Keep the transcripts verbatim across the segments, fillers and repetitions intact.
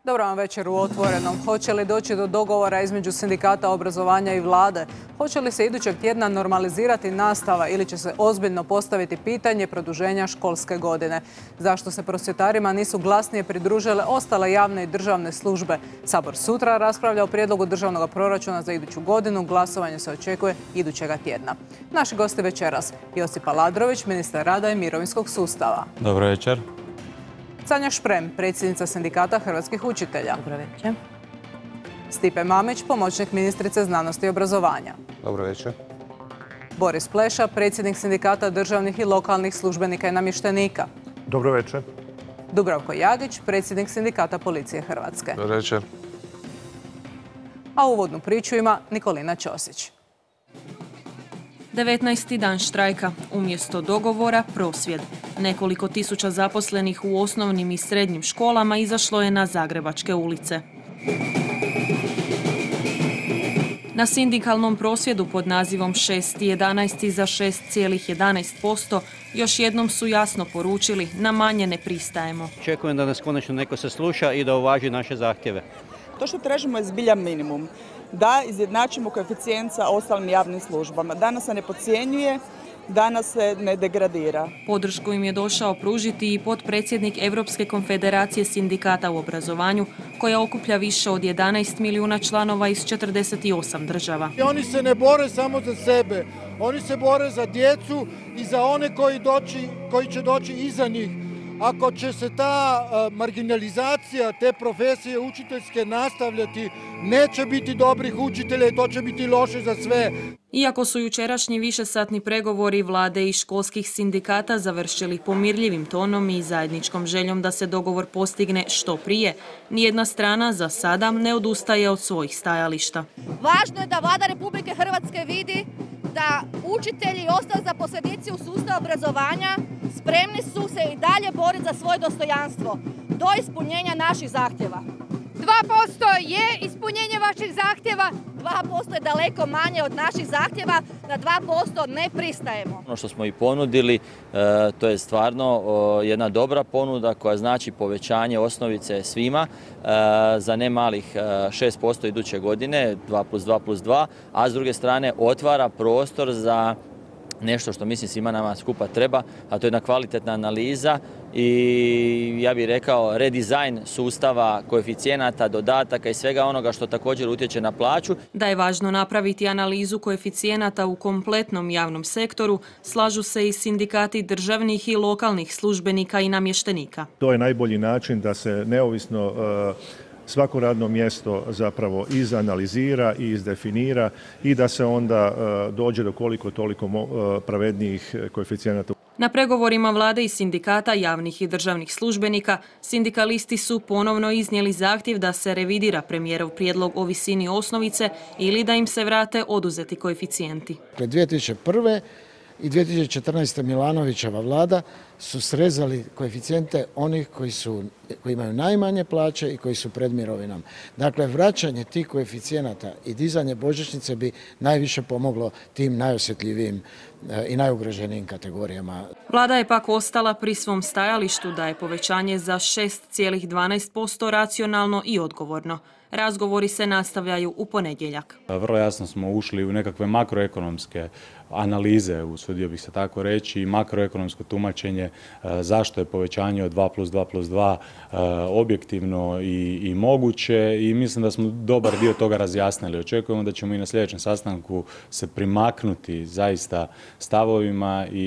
Dobro vam večer u Otvorenom. Hoće li doći do dogovora između sindikata obrazovanja i vlade? Hoće li se idućeg tjedna normalizirati nastava ili će se ozbiljno postaviti pitanje produženja školske godine? Zašto se prosvjetarima nisu glasnije pridružile ostale javne i državne službe? Sabor sutra raspravlja o prijedlogu državnog proračuna za iduću godinu. Glasovanje se očekuje idućega tjedna. Naši gosti večeras: Josip Aladrović, ministar rada i mirovinskog sustava. Dobro večer. Sanja Šprem, predsjednica sindikata hrvatskih učitelja. Dobro večer. Stipe Mamić, pomoćnik ministrice znanosti i obrazovanja. Dobro večer. Boris Pleša, predsjednik sindikata državnih i lokalnih službenika i namještenika. Dobro večer. Dubravko Jagić, predsjednik sindikata policije Hrvatske. Dobro večer. A uvodnu priču ima Nikolina Ćosić. devetnaesti dan štrajka. Umjesto dogovora, prosvjed. Nekoliko tisuća zaposlenih u osnovnim i srednjim školama izašlo je na zagrebačke ulice. Na sindikalnom prosvjedu pod nazivom šest jedanaest za šest zarez jedanaest posto još jednom su jasno poručili: na manje ne pristajemo. Očekujem da nas konačno neko sasluša i da uvaži naše zahtjeve. To što tražimo je zbilja minimum. Da izjednačimo koeficijent sa ostalim javnim službama. Danas se ne podcjenjuje, danas se ne degradira. Podršku im je došao pružiti i potpredsjednik Europske konfederacije sindikata u obrazovanju, koja okuplja više od jedanaest milijuna članova iz četrdeset osam država. Oni se ne bore samo za sebe, oni se bore za djecu i za one koji, doći, koji će doći iza njih. Ako će se ta marginalizacija te profesije učiteljske nastavljati, neće biti dobrih učitelja i to će biti loše za sve. Iako su jučerašnji višesatni pregovori vlade i školskih sindikata završili pomirljivim tonom i zajedničkom željom da se dogovor postigne što prije, nijedna strana za sada ne odustaje od svojih stajališta. Važno je da vlada Republike Hrvatske vidi da učitelji i ostali zaposlenici u sustavu obrazovanja spremni su se i dalje boriti za svoje dostojanstvo do ispunjenja naših zahtjeva. dva posto je ispunjenje vaših zahtjeva, dva posto je daleko manje od naših zahtjeva, na dva posto ne pristajemo. Ono što smo i ponudili, to je stvarno jedna dobra ponuda koja znači povećanje osnovice svima za ne malih šest posto iduće godine, dva plus dva plus dva, a s druge strane otvara prostor za nešto što mislim svima nama skupa treba, a to je jedna kvalitetna analiza i ja bih rekao redizajn sustava koeficijenata, dodataka i svega onoga što također utječe na plaću. Da je važno napraviti analizu koeficijenata u kompletnom javnom sektoru, slažu se i sindikati državnih i lokalnih službenika i namještenika. To je najbolji način da se neovisno uh, svako radno mjesto zapravo izanalizira i izdefinira i da se onda uh, dođe do koliko toliko uh, pravednijih koeficijenata. Na pregovorima vlade i sindikata javnih i državnih službenika, sindikalisti su ponovno iznijeli zahtjev da se revidira premijerov prijedlog o visini osnovice ili da im se vrate oduzeti koeficijenti. dvije tisuće prve i dvije tisuće četrnaeste. Milanovićeva vlada su srezali koeficijente onih koji, su, koji imaju najmanje plaće i koji su pred mirovinom. Dakle, vraćanje tih koeficijenata i dizanje božićnice bi najviše pomoglo tim najosjetljivijim i najugroženijim kategorijama. Vlada je pak ostala pri svom stajalištu da je povećanje za šest zarez dvanaest posto racionalno i odgovorno. Razgovori se nastavljaju u ponedjeljak. Vrlo jasno smo ušli u nekakve makroekonomske analize, usudio bih se tako reći, i makroekonomsko tumačenje zašto je povećanje od dva plus dva plus dva objektivno i, i moguće i mislim da smo dobar dio toga razjasnili. Očekujemo da ćemo i na sljedećem sastanku se primaknuti zaista stavovima i,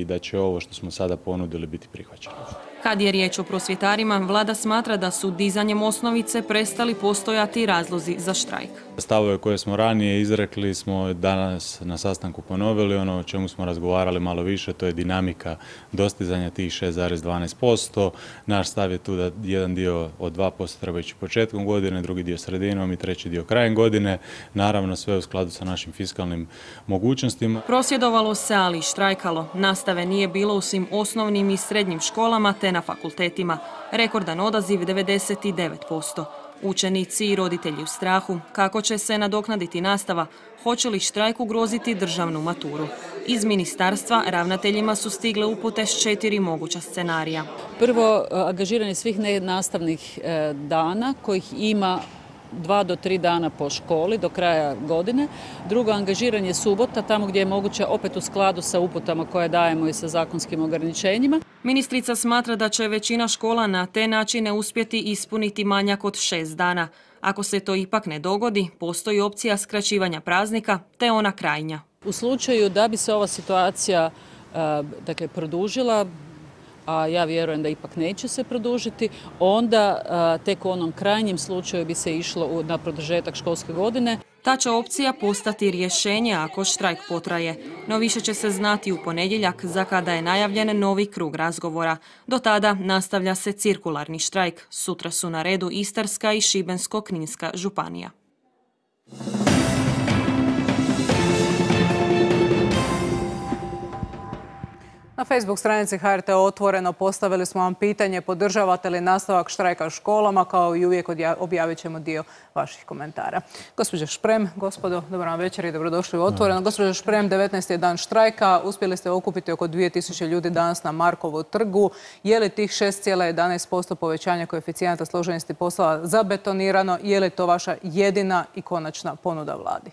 i da će ovo što smo sada ponudili biti prihvaćeno. Kad je riječ o prosvjetarima, vlada smatra da su dizanjem osnovice prestali postojati razlozi za štrajk. Stavove koje smo ranije izrekli smo danas na sastanku ponovili. Ono o čemu smo razgovarali malo više, to je dinamika dostizanja tih šest zarez dvanaest posto. Naš stav je tu da jedan dio od dva posto treba ići početkom godine, drugi dio sredinom i treći dio krajem godine. Naravno sve u skladu sa našim fiskalnim mogućnostima. Prosvjedovalo se, ali i štrajkalo. Nastave nije bilo u svim osnovnim i srednjim školama te na fakultetima. Rekordan odaziv devedeset devet posto. Učenici i roditelji u strahu kako će se nadoknaditi nastava, hoće li štrajk ugroziti državnu maturu. Iz ministarstva ravnateljima su stigle upute s četiri moguća scenarija. Prvo, angažiranje svih nenastavnih dana kojih ima dva do tri dana po školi do kraja godine. Drugo, angažiranje subota tamo gdje je moguće, opet u skladu sa uputama koje dajemo i sa zakonskim ograničenjima. Ministrica smatra da će većina škola na te načine uspjeti ispuniti manjak od šest dana. Ako se to ipak ne dogodi, postoji opcija skraćivanja praznika, te ona krajnja. U slučaju da bi se ova situacija dakle, produžila, a ja vjerujem da ipak neće se produžiti, onda tek u onom krajnjem slučaju bi se išlo na produžetak školske godine. Ta će opcija postati rješenje ako štrajk potraje, no više će se znati u ponedjeljak za kada je najavljen novi krug razgovora. Do tada nastavlja se cirkularni štrajk. Sutra su na redu Istarska i Šibensko-kninska županija. Na Facebook stranici H R T Otvoreno postavili smo vam pitanje podržavate li nastavak štrajka u školama, kao i uvijek objavit ćemo dio vaših komentara. Gospođo Šprem, gospodo, dobro vam večer i dobrodošli u Otvoreno. Gospođo Šprem, devetnaesti je dan štrajka, uspjeli ste okupiti oko dvije tisuće ljudi danas na Markovu trgu. Je li tih šest zarez jedanaest posto povećanja koeficijenata složenosti poslova zabetonirano, je li to vaša jedina i konačna ponuda vladi?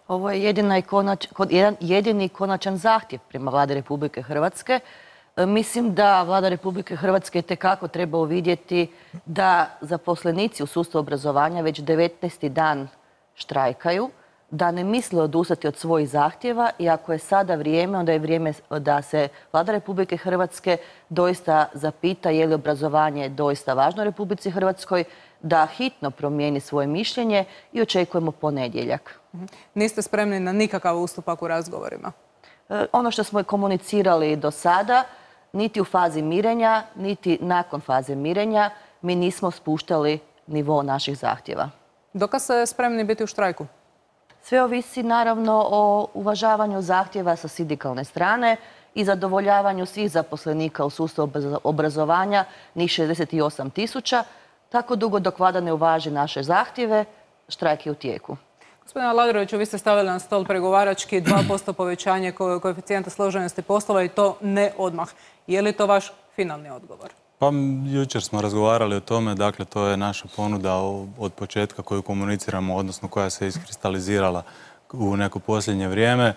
Ovo je jedina i konač, jedan jedini konačan zahtjev prema vladi Republike Hrvatske. Mislim da vlada Republike Hrvatske itekako treba uvidjeti da zaposlenici u sustavu obrazovanja već devetnaesti dan štrajkaju, da ne misle odustati od svojih zahtjeva i ako je sada vrijeme, onda je vrijeme da se vlada Republike Hrvatske doista zapita je li obrazovanje doista važno Republici Hrvatskoj, da hitno promijeni svoje mišljenje i očekujemo ponedjeljak. Niste spremni na nikakav ustupak u razgovorima? Ono što smo komunicirali do sada, niti u fazi mirenja, niti nakon faze mirenja, mi nismo spuštali nivo naših zahtjeva. Dokad ste spremni biti u štrajku? Sve ovisi naravno o uvažavanju zahtjeva sa sindikalne strane i zadovoljavanju svih zaposlenika u sustavu obrazovanja, njih šezdeset osam tisuća. Tako dugo dok vlada ne uvaži naše zahtjeve, štrajk je u tijeku. Gospodine Aladroviću, vi ste stavili na stol pregovarački dva posto povećanje koeficijenta složenosti poslova i to ne odmah. Je li to vaš finalni odgovor? Pa jučer smo razgovarali o tome, dakle to je naša ponuda od početka koju komuniciramo, odnosno koja se iskristalizirala u neko posljednje vrijeme.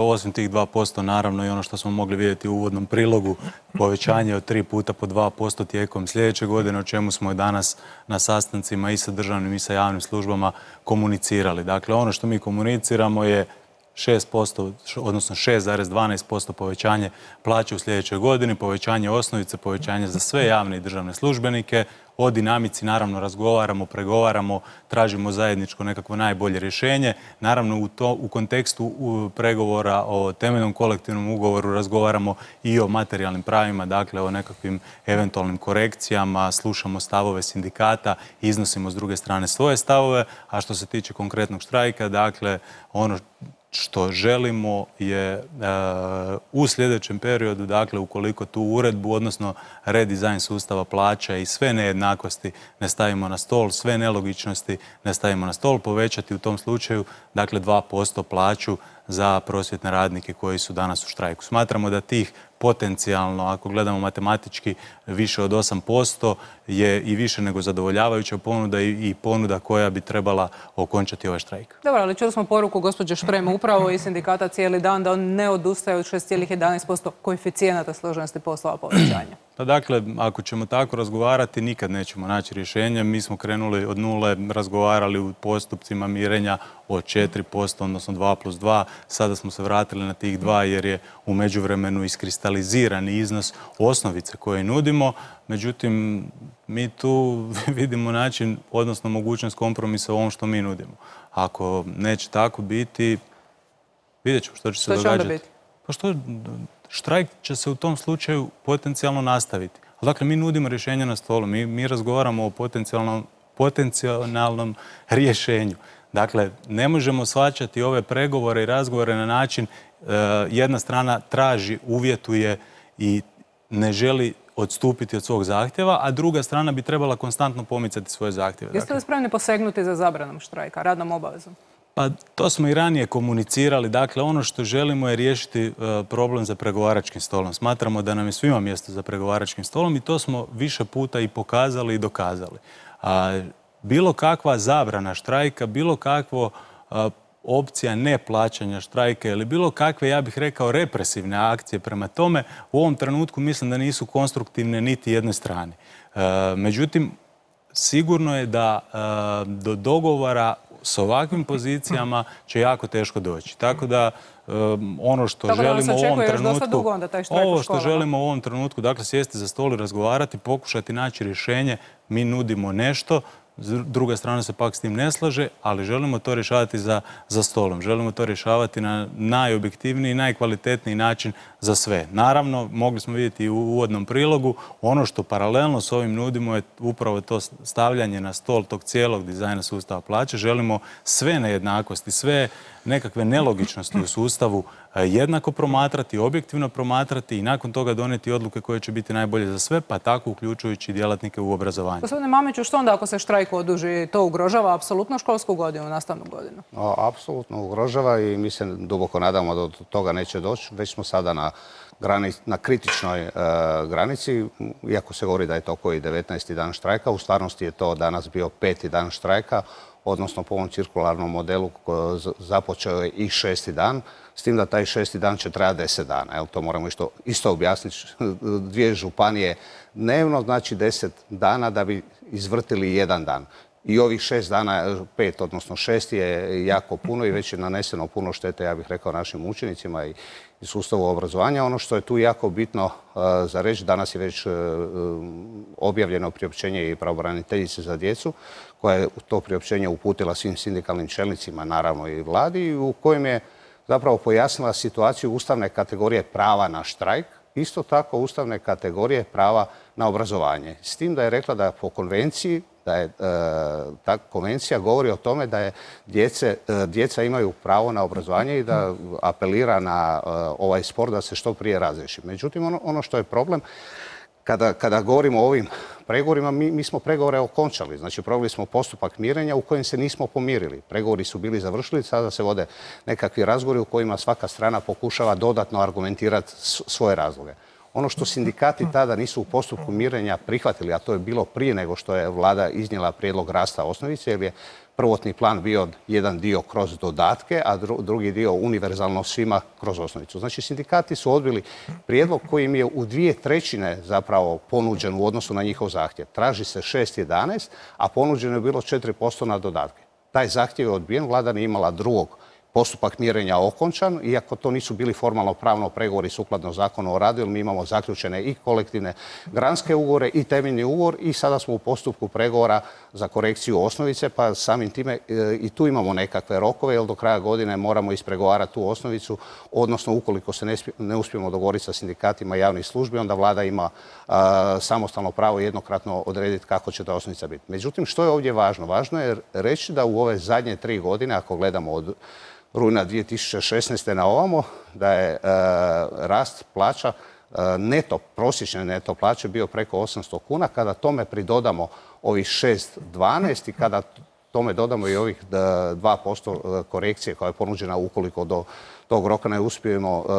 Osim tih dva posto, naravno i ono što smo mogli vidjeti u uvodnom prilogu, povećanje od tri puta po dva posto tijekom sljedeće godine, o čemu smo i danas na sastancima i sa državnim i sa javnim službama komunicirali. Dakle, ono što mi komuniciramo je šest posto, odnosno šest zarez dvanaest posto povećanje plaće u sljedećoj godini, povećanje osnovice, povećanje za sve javne i državne službenike. O dinamici naravno razgovaramo, pregovaramo, tražimo zajedničko nekakvo najbolje rješenje. Naravno u, to, u kontekstu u pregovora o temeljnom kolektivnom ugovoru razgovaramo i o materijalnim pravima, dakle o nekakvim eventualnim korekcijama, slušamo stavove sindikata, iznosimo s druge strane svoje stavove, a što se tiče konkretnog štrajka, dakle ono što želimo je uh, u sljedećem periodu, dakle ukoliko tu uredbu, odnosno redizajn sustava plaća i sve nejednakosti ne stavimo na stol, sve nelogičnosti ne stavimo na stol, povećati u tom slučaju dakle dva posto plaću za prosvjetne radnike koji su danas u štrajku. Smatramo da tih potencijalno, ako gledamo matematički, više od osam posto je i više nego zadovoljavajuća ponuda i ponuda koja bi trebala okončati ovaj štrajk. Dobro, ali čuli smo poruku gospođe Šprem upravo iz sindikata cijeli dan da on ne odustaje od šest zarez jedanaest posto koeficijenata složenosti poslova povećanja. Pa dakle, ako ćemo tako razgovarati, nikad nećemo naći rješenje. Mi smo krenuli od nule, razgovarali u postupcima mirenja od četiri posto, odnosno dva plus dva. Sada smo se vratili na tih dva jer je u međuvremenu iskristalizirani iznos osnovice koje nudimo. Međutim, mi tu vidimo način, odnosno mogućnost kompromisa u ovom što mi nudimo. Ako neće tako biti, vidjet ćemo što će se događati. Što će onda biti? Pa što... Štrajk će se u tom slučaju potencijalno nastaviti. Dakle, mi nudimo rješenje na stolu. Mi, mi razgovaramo o potencijalnom, potencijalnom rješenju. Dakle, ne možemo shvaćati ove pregovore i razgovore na način e, jedna strana traži, uvjetuje i ne želi odstupiti od svog zahtjeva, a druga strana bi trebala konstantno pomicati svoje zahtjeve. Jeste li spremni posegnuti za zabranom štrajka, radnom obavezom? Pa to smo i ranije komunicirali. Dakle, ono što želimo je riješiti problem za pregovaračkim stolom. Smatramo da nam je svima mjesto za pregovaračkim stolom i to smo više puta i pokazali i dokazali. A, bilo kakva zabrana štrajka, bilo kakvo a, opcija neplaćanja štrajka ili bilo kakve, ja bih rekao, represivne akcije prema tome, u ovom trenutku mislim da nisu konstruktivne niti jednoj strani. E, međutim, sigurno je da e, do dogovora s ovakvim pozicijama će jako teško doći. Tako da e, ono što Tako želimo u ovom trenutku, dugo onda taj štrajk u ovo što školama. želimo u ovom trenutku, dakle sjesti za stol i razgovarati, pokušati naći rješenje, mi nudimo nešto, druga strana se pak s tim ne slaže, ali želimo to rješavati za, za stolom. Želimo to rješavati na najobjektivniji, najkvalitetniji način za sve. Naravno, mogli smo vidjeti i u uvodnom prilogu, ono što paralelno s ovim nudimo je upravo to stavljanje na stol tog cijelog dizajna sustava plaće. Želimo sve nejednakosti, sve nekakve nelogičnosti u sustavu jednako promatrati, objektivno promatrati i nakon toga donijeti odluke koje će biti najbolje za sve, pa tako uključujući djelatnike u obrazovanju. Gospodine Mamiću, što onda ako se štrajk oduži? To ugrožava apsolutno školsku godinu, nastavnu godinu? Apsolutno ugrožava i mi se duboko nadamo da do toga neće doći. Već smo sada na, grani, na kritičnoj e, granici, iako se govori da je to koji devetnaesti dan štrajka, u stvarnosti je to danas bio peti dan štrajka, odnosno po ovom cirkularnom modelu započeo je i šesti dan, s tim da taj šesti dan će trajati deset dana. Evo, to moramo isto, isto objasniti. Dvije županije dnevno, znači deset dana da bi izvrtili jedan dan. I ovih šest dana, pet, odnosno šest je jako puno i već je naneseno puno štete, ja bih rekao, našim učenicima i, i sustavu obrazovanja. Ono što je tu jako bitno uh, za reći, danas je već uh, objavljeno priopćenje i pravobraniteljice za djecu, koja je to priopćenje uputila svim sindikalnim čelnicima, naravno i vladi, u kojem je zapravo pojasnila situaciju ustavne kategorije prava na štrajk, isto tako ustavne kategorije prava na obrazovanje. S tim da je rekla da po konvenciji, da je e, ta konvencija govori o tome da je djece, e, djeca imaju pravo na obrazovanje i da apelira na e, ovaj spor da se što prije razriješi. Međutim, ono, ono što je problem, kada, kada govorimo o ovim pregovorima, mi, mi smo pregovore okončali. Znači, proveli smo postupak mirenja u kojem se nismo pomirili. Pregovori su bili završili, sada se vode nekakvi razgovori u kojima svaka strana pokušava dodatno argumentirati svoje razloge. Ono što sindikati tada nisu u postupku mirenja prihvatili, a to je bilo prije nego što je vlada iznijela prijedlog rasta osnovice, jer je prvotni plan bio jedan dio kroz dodatke, a drugi dio univerzalno svima kroz osnovicu. Znači, sindikati su odbili prijedlog koji im je u dvije trećine zapravo ponuđen u odnosu na njihov zahtjev. Traži se šest jedanaest, a ponuđeno je bilo četiri posto na dodatke. Taj zahtjev je odbijen, vlada nije imala drugog. Postupak mirenja okončan, iako to nisu bili formalno pravno pregovori sukladno zakonu o radu, jer mi imamo zaključene i kolektivne granske ugovore i temeljni ugovor i sada smo u postupku pregovora za korekciju osnovice, pa samim time i tu imamo nekakve rokove, jer do kraja godine moramo ispregovarati tu osnovicu, odnosno ukoliko se ne, ne uspijemo dogovoriti sa sindikatima javnih službi, onda vlada ima a, samostalno pravo jednokratno odrediti kako će ta osnovica biti. Međutim, što je ovdje važno? Važno je reći da u ove zadnje tri godine, ako gledamo od rujna dvije tisuće šesnaeste na ovamo, da je e, rast plaća, e, neto, prosječne neto plaće bio preko osamsto kuna. Kada tome pridodamo ovih šest dvanaest i kada tome dodamo i ovih dva posto korekcije koja je ponuđena ukoliko do tog roka ne uspijemo e,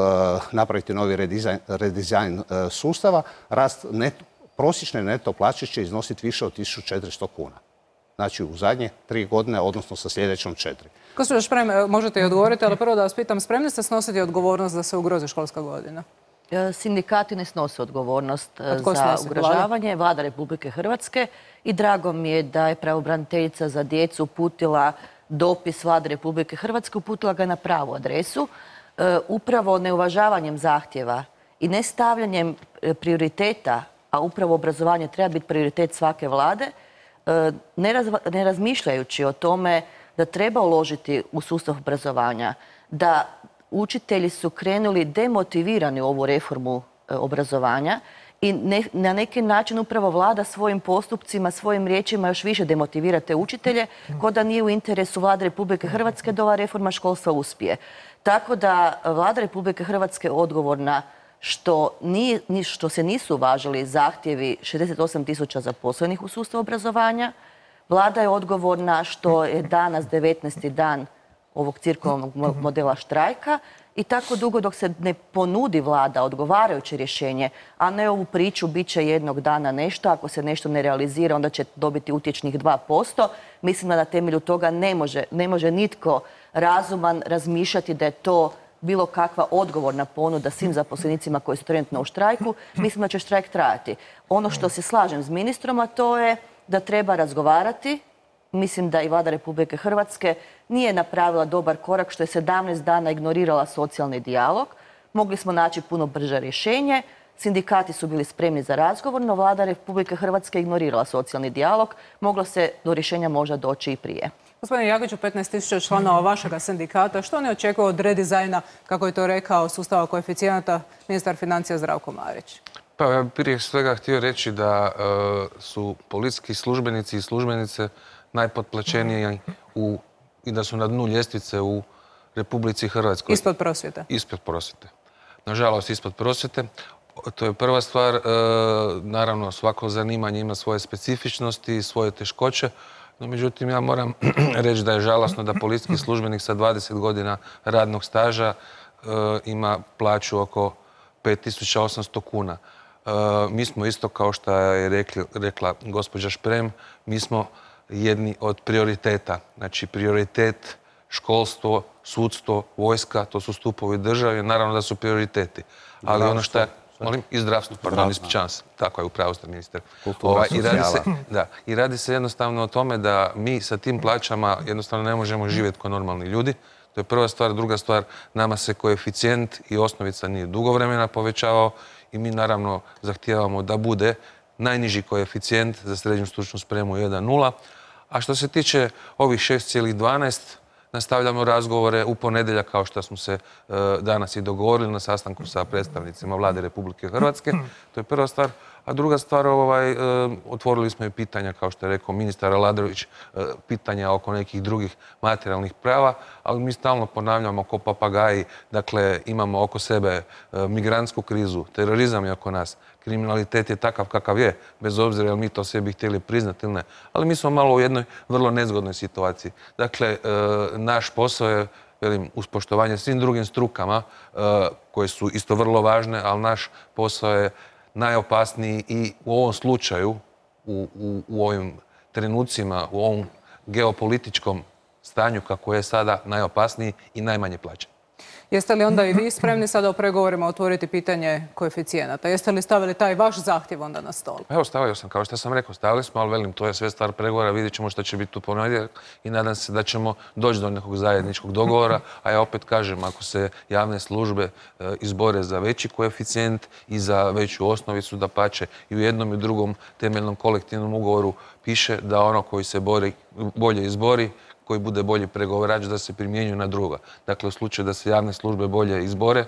napraviti novi redizajn, redizajn e, sustava, rast neto, prosječne neto plaće će iznositi više od tisuću četiristo kuna. Znači u zadnje tri godine, odnosno sa sljedećom četiri. Gospođo Šprem, možete i odgovoriti, ali prvo da vas pitam, spremni ste snositi odgovornost da se ugrozi školska godina? Sindikati ne snose odgovornost za snosi? ugrožavanje. Vlada Republike Hrvatske i drago mi je da je pravobraniteljica za djecu uputila dopis Vlade Republike Hrvatske, uputila ga na pravu adresu. Upravo neuvažavanjem zahtjeva i nestavljanjem prioriteta, a upravo obrazovanje treba biti prioritet svake vlade, ne, raz, ne razmišljajući o tome da treba uložiti u sustav obrazovanja, da učitelji su krenuli demotivirani u ovu reformu obrazovanja i ne, na neki način upravo vlada svojim postupcima, svojim riječima još više demotivira te učitelje, ko da nije u interesu Vlade Republike Hrvatske da ova reforma školstva uspije. Tako da Vlada Republike Hrvatske je odgovorna što, nije, što se nisu uvažili zahtjevi šezdeset osam tisuća zaposlenih u sustavu obrazovanja. Vlada je odgovorna što je danas devetnaesti dan ovog cirkularnog modela štrajka i tako dugo dok se ne ponudi vlada odgovarajuće rješenje, a ne ovu priču bit će jednog dana nešto, ako se nešto ne realizira onda će dobiti utječnih dva posto. Mislim da na temelju toga ne može, ne može nitko razuman razmišljati da je to bilo kakva odgovorna ponuda svim zaposlenicima koji su trenutno u štrajku. Mislim da će štrajk trajati. Ono što se slažem s ministrom, a to je da treba razgovarati. Mislim da i Vlada Republike Hrvatske nije napravila dobar korak što je sedamnaest dana ignorirala socijalni dijalog. Mogli smo naći puno brže rješenje. Sindikati su bili spremni za razgovor, no Vlada Republike Hrvatske ignorirala socijalni dijalog. Moglo se do rješenja možda doći i prije. Gospodine Jagiću, petnaest tisuća članova vašega sindikata, što ne očekuje od redizajna, kako je to rekao, sustava koeficijenata ministar financija Zdravko Marić? Pa ja bih prije svega htio reći da e, su policijski službenici i službenice najpotplaćeniji u, i da su na dnu ljestvice u Republici Hrvatskoj. Ispod prosvjete? Ispod prosvjete. Nažalost, ispod prosvjete. To je prva stvar. E, naravno, svako zanimanje ima svoje specifičnosti i svoje teškoće. No, međutim, ja moram reći da je žalosno da policijski službenik sa dvadeset godina radnog staža e, ima plaću oko pet tisuća osamsto kuna. E, mi smo isto, kao što je rekli, rekla gospođa Šprem, mi smo jedni od prioriteta. Znači, prioritet, školstvo, sudstvo, vojska, to su stupovi države, naravno da su prioriteti. Ali ono što je... Molim, i zdravstvo, pardon, ispričavam se. Tako je, upravo ste, ministar. Kultura, i, radi se, da, I radi se jednostavno o tome da mi sa tim plaćama jednostavno ne možemo živjeti kao normalni ljudi. To je prva stvar. Druga stvar, nama se koeficijent i osnovica nije dugo vremena povećavao i mi naravno zahtijevamo da bude najniži koeficijent za srednju stručnu spremu jedan nula. A što se tiče ovih šest zarez dvanaest, nastavljamo razgovore u ponedjeljak, kao što smo se e, danas i dogovorili na sastanku sa predstavnicima Vlade Republike Hrvatske. To je prva stvar. A druga stvar, ovaj, e, otvorili smo i pitanja, kao što je rekao ministar Aladrović, e, pitanja oko nekih drugih materijalnih prava, ali mi stalno ponavljamo ko papagaji, dakle imamo oko sebe e, migrantsku krizu, terorizam je oko nas, kriminalitet je takav kakav je, bez obzira jel mi to sebi htjeli priznati ili ne. Ali mi smo malo u jednoj vrlo nezgodnoj situaciji. Dakle, e, naš posao je, velim, uz poštovanje svim drugim strukama, e, koje su isto vrlo važne, ali naš posao je najopasniji i u ovom slučaju, u, u, u ovim trenucima, u ovom geopolitičkom stanju kako je sada, najopasniji i najmanje plaćen. Jeste li onda i vi spremni sada u pregovorima otvoriti pitanje koeficijenata? Jeste li stavili taj vaš zahtjev onda na stol? Evo, stavio sam, kao što sam rekao, stavili smo, ali velim, to je sve stvar pregovora, vidjet ćemo što će biti u ponedjeljak i nadam se da ćemo doći do nekog zajedničkog dogovora, a ja opet kažem, ako se javne službe e, izbore za veći koeficijent i za veću osnovicu, da pače i u jednom i u drugom temeljnom kolektivnom ugovoru piše da ono koji se bori, bolje izbori, koji bude bolji pregovarač, da se primjenjuju na druga. Dakle, u slučaju da se javne službe bolje izbore,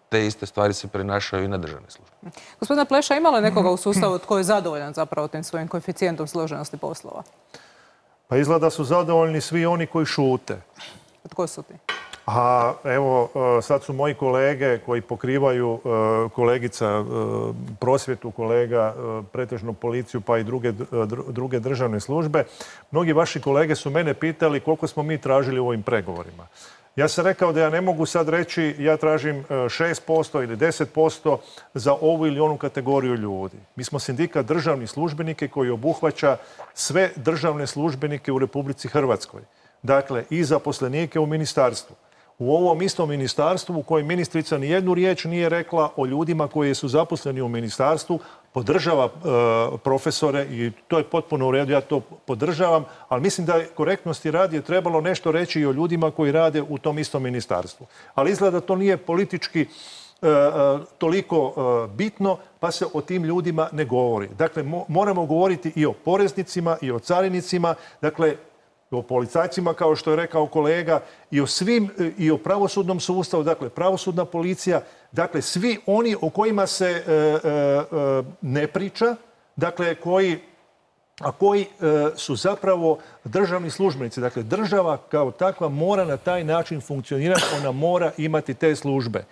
te iste stvari se prenašaju i na državne službe. Gospodine Pleša, ima li nekoga u sustavu tko je zadovoljan zapravo tim svojim koeficijentom složenosti poslova? Pa izgleda su zadovoljni svi oni koji šute. Tko su ti? A evo, sad su moji kolege koji pokrivaju, kolegica prosvjetu, kolega pretežno policiju pa i druge, druge državne službe. Mnogi vaši kolege su mene pitali koliko smo mi tražili u ovim pregovorima. Ja sam rekao da ja ne mogu sad reći ja tražim šest posto ili deset posto za ovu ili onu kategoriju ljudi. Mi smo sindikat državnih službenike koji obuhvaća sve državne službenike u Republici Hrvatskoj. Dakle, i zaposlenike u ministarstvu. U ovom istom ministarstvu u kojem ministrica ni jednu riječ nije rekla o ljudima koji su zaposleni u ministarstvu, podržava e, profesore i to je potpuno u redu, ja to podržavam, ali mislim da je korektnosti radi je trebalo nešto reći i o ljudima koji rade u tom istom ministarstvu. Ali izgleda da to nije politički e, toliko e, bitno, pa se o tim ljudima ne govori. Dakle, mo, moramo govoriti i o poreznicima i o carinicima, dakle, o policajcima, kao što je rekao kolega, i o svim, i o pravosudnom sustavu, dakle, pravosudna policija, dakle, svi oni o kojima se e, e, ne priča, dakle, koji a koji e, su zapravo državni službenici. Dakle, država kao takva mora na taj način funkcionirati, ona mora imati te službe.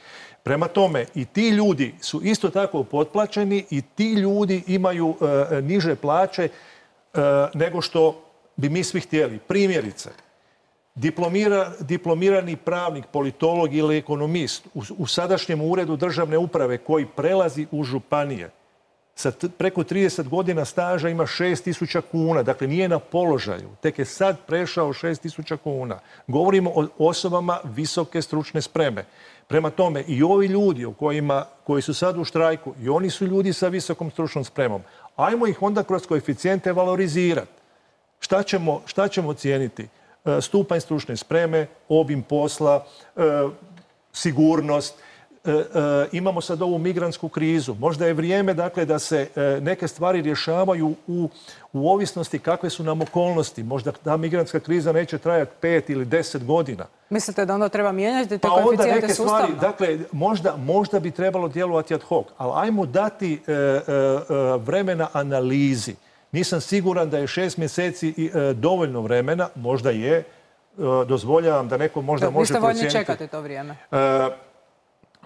Prema tome, i ti ljudi su isto tako potplaćeni i ti ljudi imaju e, niže plaće e, nego što bi mi svi htjeli. Primjerice, diplomira, diplomirani pravnik, politolog ili ekonomist u, u sadašnjem uredu državne uprave koji prelazi u županije sa preko trideset godina staža ima šest tisuća kuna. Dakle, nije na položaju. Tek je sad prešao šest tisuća kuna. Govorimo o osobama visoke stručne spreme. Prema tome, i ovi ljudi o kojima, koji su sad u štrajku, i oni su ljudi sa visokom stručnom spremom. Ajmo ih onda kroz koeficijente valorizirati. Šta ćemo, šta ćemo cijeniti? E, stupanj stručne spreme, obim posla, e, sigurnost. E, e, imamo sad ovu migrantsku krizu. Možda je vrijeme dakle, da se e, neke stvari rješavaju u, u ovisnosti kakve su nam okolnosti. Možda ta migrantska kriza neće trajati pet ili deset godina. Mislite da onda treba mijenjati te pa koeficijente neke sustavno? Stvari, dakle, možda, možda bi trebalo djelovati ad hoc, ali ajmo dati e, e, vremena analizi. Nisam siguran da je šest mjeseci e, dovoljno vremena, možda je, e, dozvoljavam da neko možda da, može procijeniti. Vi ste voljni čekati to vrijeme? E,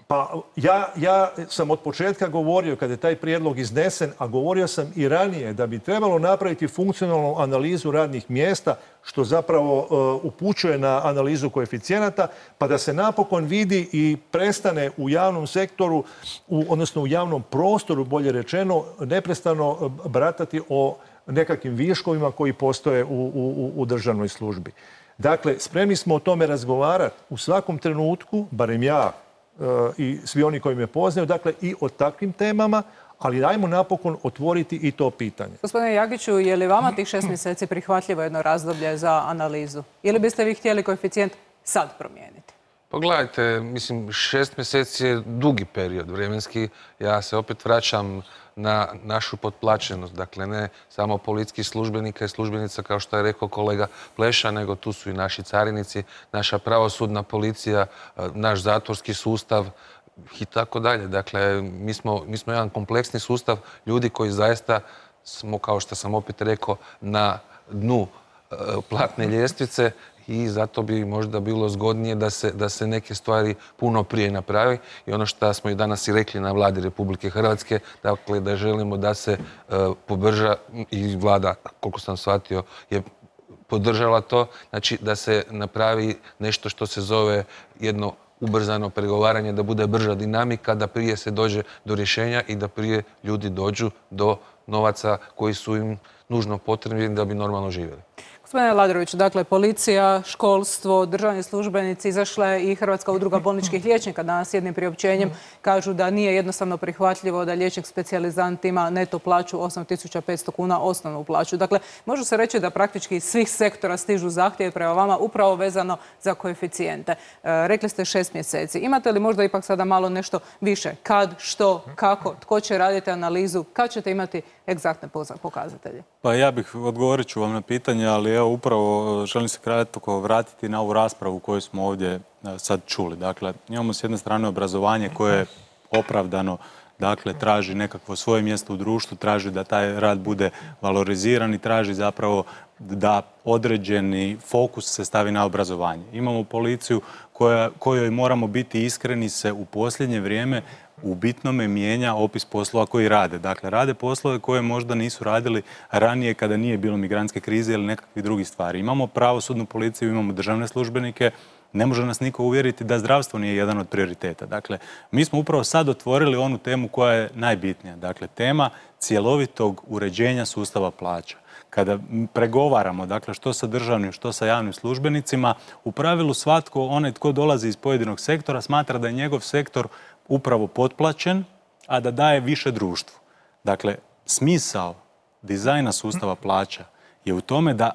Pa ja, ja sam od početka govorio, kada je taj prijedlog iznesen, a govorio sam i ranije, da bi trebalo napraviti funkcionalnu analizu radnih mjesta, što zapravo uh, upućuje na analizu koeficijenata, pa da se napokon vidi i prestane u javnom sektoru, u, odnosno u javnom prostoru, bolje rečeno, neprestano baratati o nekakvim viškovima koji postoje u, u, u državnoj službi. Dakle, spremni smo o tome razgovarati u svakom trenutku, barem ja, i svi oni koji me poznaju, dakle i o takvim temama, ali dajmo napokon otvoriti i to pitanje. Gospodine Jagiću, je li vama tih šest mjeseci prihvatljivo jedno razdoblje za analizu? Ili biste vi htjeli koeficijent sad promijeniti? Pogledajte, mislim, šest mjeseci je dugi period vremenski. Ja se opet vraćam na našu potplaćenost. Dakle, ne samo policijskih službenika i službenica, kao što je rekao kolega Pleša, nego tu su i naši carinici, naša pravosudna policija, naš zatvorski sustav i tako dalje. Dakle, mi smo, mi smo jedan kompleksni sustav ljudi koji zaista smo, kao što sam opet rekao, na dnu platne ljestvice. I zato bi možda bilo zgodnije da se, da se neke stvari puno prije napravi. I ono što smo i danas i rekli na vladi Republike Hrvatske, dakle da želimo da se uh, pobrža, i vlada, koliko sam shvatio, je podržala to, znači da se napravi nešto što se zove jedno ubrzano pregovaranje, da bude brža dinamika, da prije se dođe do rješenja i da prije ljudi dođu do novaca koji su im nužno potrebni da bi normalno živjeli. Gospodine Ladroviću, dakle, policija, školstvo, državni službenici, izašla je i Hrvatska udruga bolničkih liječnika danas jednim priopćenjem, kažu da nije jednostavno prihvatljivo da liječnik specijalizant ima neto plaću osam tisuća petsto kuna osnovnu plaću. Dakle, može se reći da praktički iz svih sektora stižu zahtjeve prema vama upravo vezano za koeficijente. E, rekli ste šest mjeseci. Imate li možda ipak sada malo nešto više? Kad, što, kako, tko će raditi analizu, kad ćete imati egzaktne pokazatelje? Pa ja bih, odgovorit ću vam na pitanje, ali evo upravo želim se kratko vratiti na ovu raspravu koju smo ovdje sad čuli. Dakle, imamo s jedne strane obrazovanje koje je opravdano, dakle, traži nekakvo svoje mjesto u društvu, traži da taj rad bude valoriziran i traži zapravo da određeni fokus se stavi na obrazovanje. Imamo policiju koja, kojoj moramo biti iskreni, se u posljednje vrijeme u bitnome mijenja opis poslova koji rade. Dakle, rade poslove koje možda nisu radili ranije kada nije bilo migrantske krize ili nekakvih drugih stvari. Imamo pravosudnu policiju, imamo državne službenike, ne može nas niko uvjeriti da zdravstvo nije jedan od prioriteta. Dakle, mi smo upravo sad otvorili onu temu koja je najbitnija. Dakle, tema cjelovitog uređenja sustava plaća. Kada pregovaramo, dakle, što sa državnim, što sa javnim službenicima, u pravilu svatko, onaj tko dolazi iz pojedinog sektora, smatra da je njegov sektor upravo potplaćen, a da daje više društvu. Dakle, smisao dizajna sustava plaća je u tome da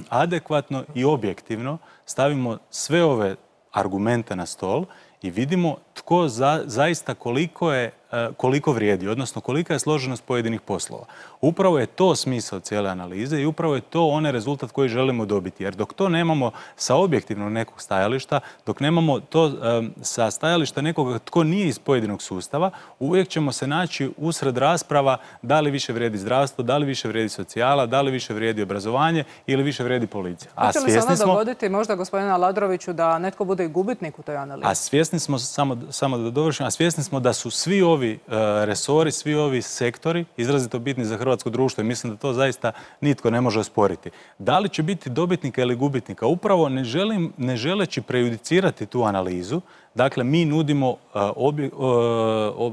adekvatno i objektivno stavimo sve ove argumente na stol i vidimo tko za, zaista koliko je koliko vrijedi, odnosno kolika je složenost pojedinih poslova. Upravo je to smisao cijele analize i upravo je to onaj rezultat koji želimo dobiti. Jer dok to nemamo sa objektivnog nekog stajališta, dok nemamo to um, sa stajališta nekoga tko nije iz pojedinog sustava, uvijek ćemo se naći usred rasprava da li više vrijedi zdravstvo, da li više vrijedi socijala, da li više vrijedi obrazovanje ili više vrijedi policija. A svjesni smo... Hoće li se onda dogoditi možda, gospodina Aladroviću, da netko bude i gubitnik u toj analizi? A svjesni smo, samo, samo da dovršim, a svjesni smo da su svi ovi Ovi resori, svi ovi sektori izrazito bitni za hrvatsko društvo i mislim da to zaista nitko ne može osporiti. Da li će biti dobitnika ili gubitnika? Upravo ne, želim, ne želeći prejudicirati tu analizu, dakle mi nudimo obje,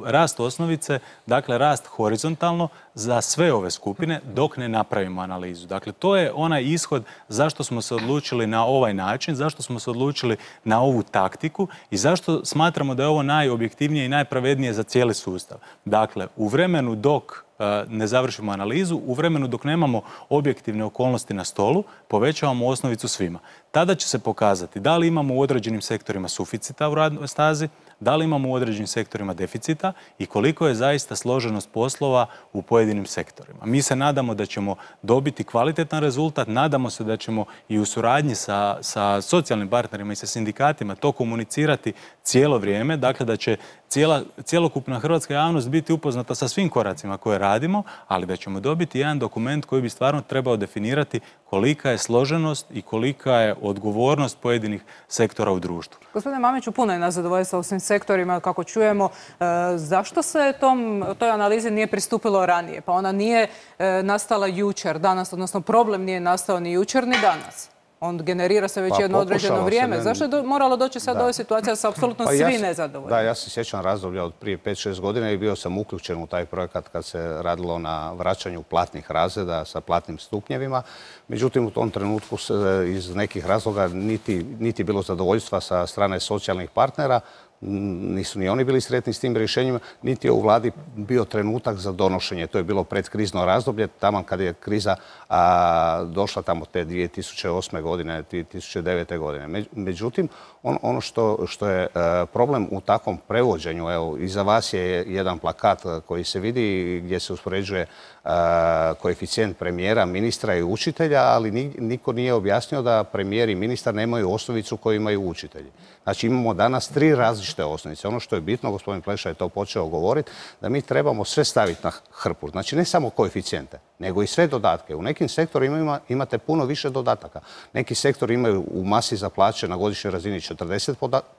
rast osnovice, dakle rast horizontalno za sve ove skupine dok ne napravimo analizu. Dakle, to je onaj ishod zašto smo se odlučili na ovaj način, zašto smo se odlučili na ovu taktiku i zašto smatramo da je ovo najobjektivnije i najpravednije za cijeli sustav. Dakle, u vremenu dok ne završimo analizu, u vremenu dok nemamo objektivne okolnosti na stolu, povećavamo osnovicu svima. Tada će se pokazati da li imamo u određenim sektorima suficita u radnoj stazi, da li imamo u određenim sektorima deficita i koliko je zaista složenost poslova u pojedinim sektorima. Mi se nadamo da ćemo dobiti kvalitetan rezultat, nadamo se da ćemo i u suradnji sa, sa socijalnim partnerima i sa sindikatima to komunicirati cijelo vrijeme, dakle da će cijela, cjelokupna hrvatska javnost biti upoznata sa svim koracima koje radimo, ali da ćemo dobiti jedan dokument koji bi stvarno trebao definirati kolika je složenost i kolika je odgovornost pojedinih sektora u društvu. Gospodine Mamiću, puno je nezadovoljstva u svim sektorima, kako čujemo. E, zašto se tom, toj analizi nije pristupilo ranije? Pa ona nije e, nastala jučer, danas, odnosno problem nije nastao ni jučer ni danas. On generira se već pa, jedno određeno vrijeme. Ne... Zašto je do, moralo doći sad do ove situacije da su apsolutno pa, svi ja nezadovoljni? Da, ja se sjećam razdoblja od prije pet šest godina i bio sam uključen u taj projekat kad se radilo na vraćanju platnih razreda sa platnim stupnjevima. Međutim, u tom trenutku se iz nekih razloga niti, niti bilo zadovoljstva sa strane socijalnih partnera, nisu ni oni bili sretni s tim rješenjima, niti je u vladi bio trenutak za donošenje. To je bilo predkrizno razdoblje, tamo kad je kriza a, došla tamo te dvije tisuće osme godine, dvije tisuće devete godine. Međutim, on, ono što, što je a, problem u takvom prevođenju, evo, iza vas je jedan plakat koji se vidi gdje se uspoređuje a, koeficijent premijera, ministra i učitelja, ali niko nije objasnio da premijer i ministar nemaju osnovicu koju imaju učitelji. Znači imamo danas tri različite osnovice. Ono što je bitno, gospodin Pleša je to počeo govoriti, da mi trebamo sve staviti na hrpu. Znači ne samo koeficijente, nego i sve dodatke. U nekim sektorima imate puno više dodataka. Neki sektori imaju u masi za plaće na godišnjoj razini četrdeset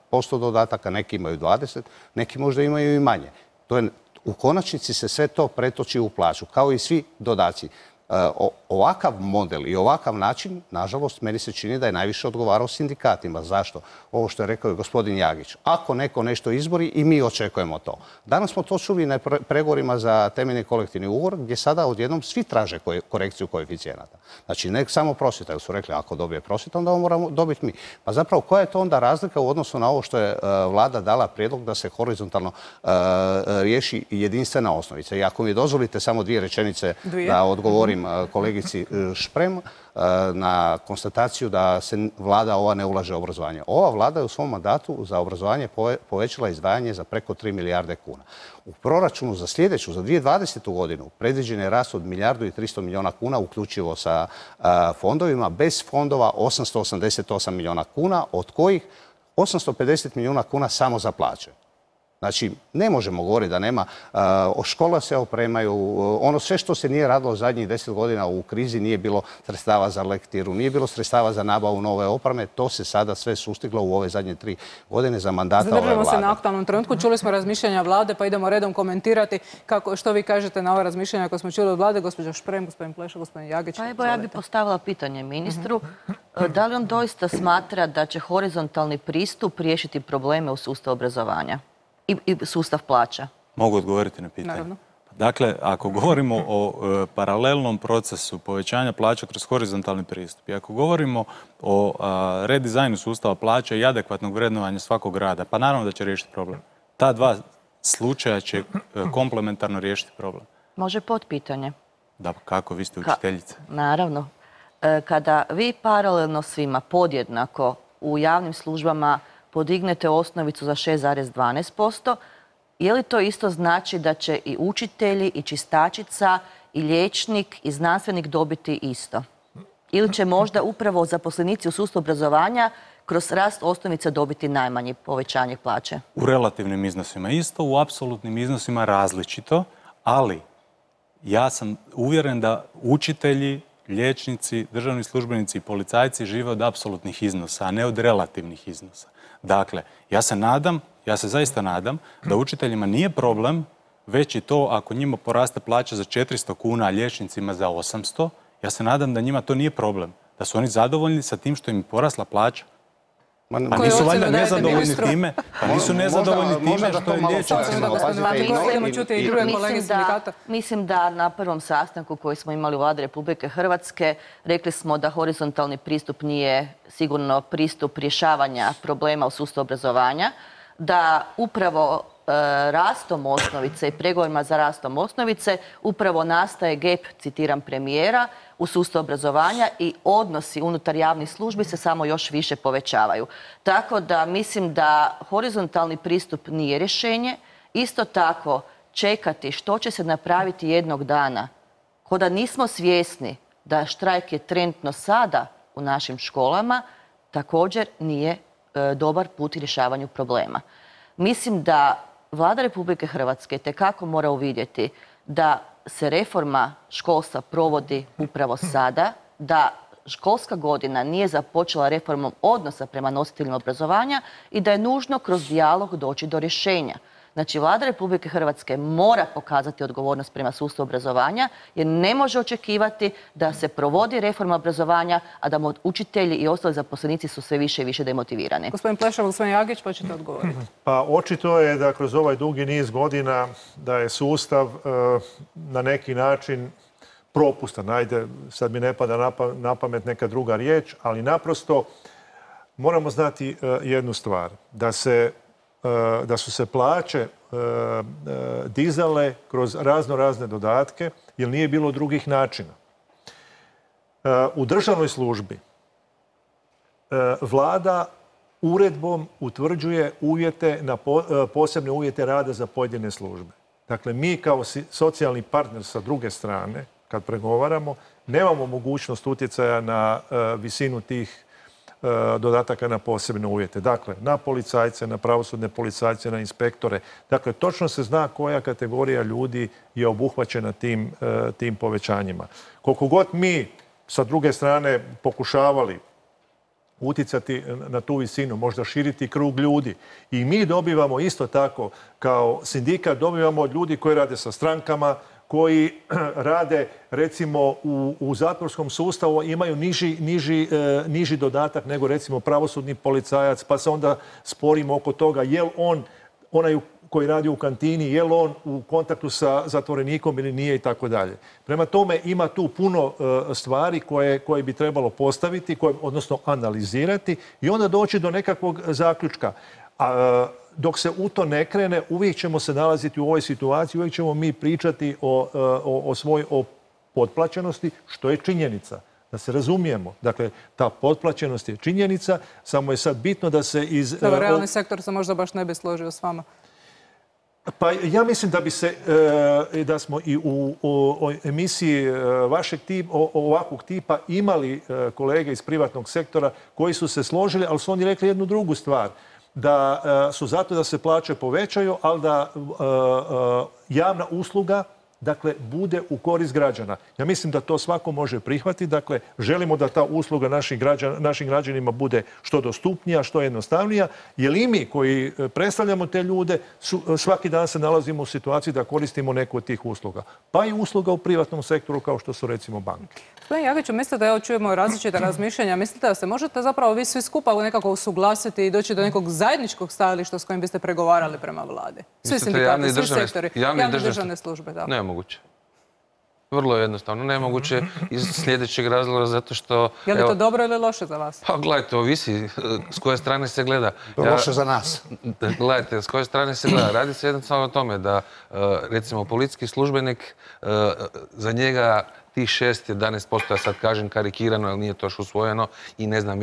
posto dodataka, neki imaju dvadeset, neki možda imaju i manje. To je, u konačnici se sve to pretoči u plaću, kao i svi dodaci. O, ovakav model i ovakav način, nažalost, meni se čini da je najviše odgovarao sindikatima. Zašto? Ovo što je rekao i gospodin Jagić. Ako neko nešto izbori i mi očekujemo to. Danas smo to čuli na pregovorima za temeljni kolektivni ugovor, gdje sada odjednom svi traže korekciju koeficijenata. Znači, ne samo prosvjeta, jer su rekli ako dobije prosvjeta, onda ovo moramo dobiti mi. Pa zapravo, koja je to onda razlika u odnosu na ovo što je uh, vlada dala prijedlog da se horizontalno uh, riješi jedinstvena osnovica? I ako mi dozvolite samo dvije rečenice dvije. da odgovorim kolegici Šprem na konstataciju da se vlada ova ne ulaže u obrazovanje. Ova vlada je u svom mandatu za obrazovanje povećala izdvajanje za preko tri milijarde kuna. U proračunu za sljedeću, za dvije tisuće dvadesetu godinu, predviđen je rast od milijardu i tristo milijuna kuna, uključivo sa fondovima. Bez fondova osamsto osamdeset osam milijuna kuna, od kojih osamsto pedeset milijuna kuna samo za plaće. Znači, ne možemo govoriti da nema. Uh, škola se opremaju, uh, ono sve što se nije radilo zadnjih deset godina u krizi, nije bilo sredstava za lektiru, nije bilo sredstava za nabavu nove opreme, to se sada sve sustiglo u ove zadnje tri godine za mandata ove vlade. Zadržimo se na aktualnom trenutku. Čuli smo razmišljanja vlade, pa idemo redom komentirati kako, što vi kažete na ove razmišljanja koje smo čuli od vlade, gospođa Šprem, gospodin Pleša, gospodin Jagić. Pa evo, ja bih postavila pitanje ministru. Uh-huh. Da li on doista smatra da će horizontalni pristup riješiti probleme u sustavu obrazovanja i, i sustav plaća? Mogu odgovoriti na pitanje. Naravno. Dakle, ako govorimo o e, paralelnom procesu povećanja plaća kroz horizontalni pristup i ako govorimo o a, redizajnu sustava plaća i adekvatnog vrednovanja svakog rada, pa naravno da će riješiti problem. Ta dva slučaja će e, komplementarno riješiti problem. Može potpitanje? Da, kako? Vi ste učiteljica. Ka naravno. E, kada vi paralelno svima podjednako u javnim službama podignete osnovicu za šest zarez dvanaest posto, je li to isto znači da će i učitelji, i čistačica, i liječnik, i znanstvenik dobiti isto? Ili će možda upravo zaposlenici u sustavu obrazovanja kroz rast osnovice dobiti najmanje povećanje plaće? U relativnim iznosima isto, u apsolutnim iznosima različito, ali ja sam uvjeren da učitelji, liječnici, državni službenici i policajci žive od apsolutnih iznosa, a ne od relativnih iznosa. Dakle, ja se nadam, ja se zaista nadam da učiteljima nije problem već i to ako njima poraste plaća za četiristo kuna, a liječnicima za osamsto, ja se nadam da njima to nije problem. Da su oni zadovoljni sa tim što im je porasla plaća. Pa nisu valjda nezadovoljni time, pa nisu nezadovoljni time što je liječnicima. Mislim da na prvom sastanku koji smo imali u Vladi Republike Hrvatske rekli smo da horizontalni pristup nije sigurno pristup rješavanja problema u sustavu obrazovanja, da upravo rastom osnovice i pregovorima za rastom osnovice upravo nastaje gap, citiram premijera, u sustavu obrazovanja i odnosi unutar javnih službi se samo još više povećavaju. Tako da mislim da horizontalni pristup nije rješenje. Isto tako čekati što će se napraviti jednog dana, ko da nismo svjesni da štrajk je trenutno sada u našim školama, također nije dobar put u rješavanju problema. Mislim da Vlada Republike Hrvatske tekako mora uvidjeti da se reforma školstva provodi upravo sada, da školska godina nije započela reformom odnosa prema nositeljima obrazovanja i da je nužno kroz dijalog doći do rješenja. Znači, Vlada Republike Hrvatske mora pokazati odgovornost prema sustavu obrazovanja jer ne može očekivati da se provodi reforma obrazovanja, a da učitelji i ostali zaposlenici su sve više i više demotivirani. Gospodin Plešov, gospodin Jagić, pa ćete odgovoriti. Pa očito je da kroz ovaj dugi niz godina da je sustav na neki način propustan. Ajde, sad mi ne pada na pamet neka druga riječ, ali naprosto moramo znati jednu stvar. Da se da su se plaće dizale kroz razno razne dodatke, jer nije bilo drugih načina. U državnoj službi Vlada uredbom utvrđuje uvjete, posebne uvjete rada za pojedine službe. Dakle, mi kao socijalni partner sa druge strane, kad pregovaramo, nemamo mogućnost utjecaja na visinu tih dodataka na posebne uvjete. Dakle, na policajce, na pravosudne policajce, na inspektore. Dakle, točno se zna koja kategorija ljudi je obuhvaćena tim, tim povećanjima. Koliko god mi sa druge strane pokušavali utjecati na tu visinu, možda širiti krug ljudi. I mi dobivamo isto tako, kao sindikat, dobivamo od ljudi koji rade sa strankama, koji rade recimo u, u zatvorskom sustavu, imaju niži, niži, e, niži dodatak nego recimo pravosudni policajac, pa se onda sporimo oko toga je li on, onaj koji radi u kantini, je li on u kontaktu sa zatvorenikom ili nije i tako dalje. Prema tome ima tu puno e, stvari koje, koje bi trebalo postaviti, koje, odnosno analizirati i onda doći do nekakvog zaključka. A, dok se u to ne krene, uvijek ćemo se nalaziti u ovoj situaciji, uvijek ćemo mi pričati o, o, o svoj o potplaćenosti, što je činjenica. Da se razumijemo. Dakle, ta potplaćenost je činjenica, samo je sad bitno da se iz... Dobro, realni sektor se možda baš ne bi složio s vama. Pa ja mislim da bi se, da smo i u, u emisiji vašeg tipa, ovakvog tipa imali kolege iz privatnog sektora koji su se složili, ali su oni rekli jednu drugu stvar. Da su zato da se plaće povećaju, ali da javna usluga dakle, bude u korist građana. Ja mislim da to svako može prihvatiti. Dakle, želimo da ta usluga našim, građan, našim građanima bude što dostupnija, što jednostavnija, jer i mi koji predstavljamo te ljude su, svaki dan se nalazimo u situaciji da koristimo neku od tih usluga. Pa i usluga u privatnom sektoru kao što su recimo banke. Gospodin Jagiću, mislite da evo čujemo različita razmišljanja, mislite da se možete zapravo vi svi skupa nekako usuglasiti i doći do nekog zajedničkog stajališta s kojim biste pregovarali prema vladi? Svi sindikati, svi sektori, javne državne službe. Da. Nemoguće. Vrlo jednostavno. Nemoguće iz sljedećeg razloga zato što... Je li to dobro ili loše za vas? Pa gledajte, ovisi s koje strane se gleda. Ja, loše za nas. Gledajte, s koje strane se gleda. Radi se jednostavno o tome da, recimo, policijski službenik, za njega tih šest, jedanaest posto, ja sad kažem karikirano, jer nije to još usvojeno, i ne znam,